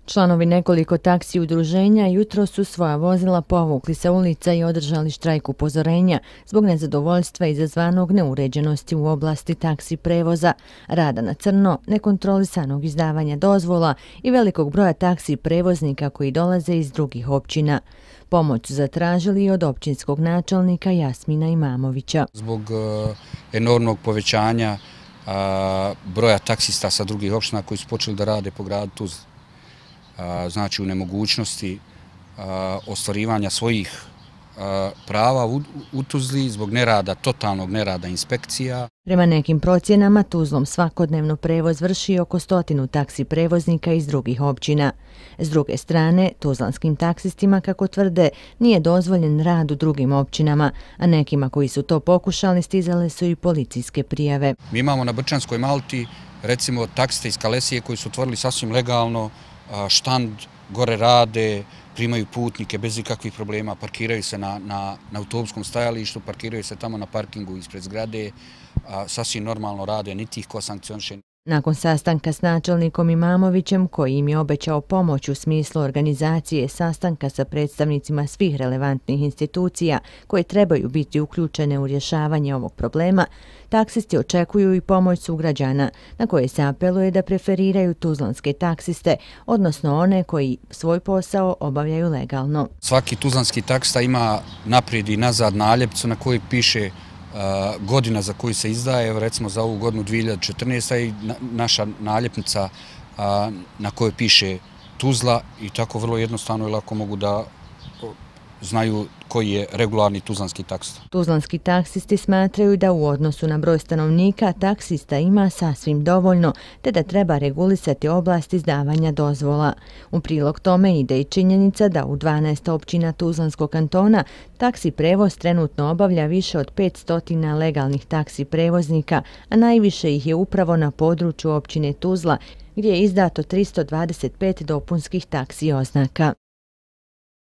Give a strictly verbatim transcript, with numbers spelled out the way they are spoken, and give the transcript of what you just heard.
Članovi nekoliko taksi udruženja jutros su svoja vozila povukli sa ulica i održali štrajk upozorenja zbog nezadovoljstva izazvanog neuređenosti u oblasti taksi prevoza, rada na crno, nekontrolisanog izdavanja dozvola i velikog broja taksi prevoznika koji dolaze iz drugih općina. Pomoć su zatražili i od općinskog načelnika Jasmina Imamovića. Zbog uh, enormnog povećanja uh, broja taksista sa drugih općina koji su počeli da rade po gradu Tuzli, uh, znači u nemogućnosti uh, ostvarivanja svojih uh, prava u, u Tuzli zbog nerada, totalnog nerada inspekcija. Prema nekim procjenama, Tuzlom svakodnevno prevoz vrši oko stotinu taksi prevoznika iz drugih općina. S druge strane, tuzlanskim taksistima, kako tvrde, nije dozvoljen rad u drugim općinama, a nekima koji su to pokušali stizale su i policijske prijave. Mi imamo na Brčanskoj Malti, recimo, taksiste iz Kalesije koji su otvorili sasvim legalno štand, gore rade, primaju putnike bez ikakvih problema, parkiraju se na, na, na autobuskom stajalištu, parkiraju se tamo na parkingu ispred zgrade, a, sasvim normalno rade, niti ih ko sankcioniše. Nakon sastanka s načelnikom Imamovićem, koji im je obećao pomoć u smislu organizacije sastanka sa predstavnicima svih relevantnih institucija koje trebaju biti uključene u rješavanje ovog problema, taksisti očekuju i pomoć sugrađana, na koje se apeluje da preferiraju tuzlanske taksiste, odnosno one koji svoj posao obavljaju legalno. Svaki tuzlanski taksista ima naprijed i nazad naljepnicu na kojoj piše godina za koju se izdaje, evo recimo za ovu godinu dvije hiljade četrnaeste. i naša naljepnica na kojoj piše Tuzla i tako vrlo jednostavno i lako mogu da znaju koji je regularni tuzlanski taksista. Tuzlanski taksisti smatraju da u odnosu na broj stanovnika taksista ima sasvim dovoljno, te da treba regulisati oblast izdavanja dozvola. U prilog tome ide i činjenica da u dvanaest općina Tuzlanskog kantona taksi prevoz trenutno obavlja više od petsto legalnih taksi prevoznika, a najviše ih je upravo na području općine Tuzla, gdje je izdato tristo dvadeset pet dopunskih taksi oznaka.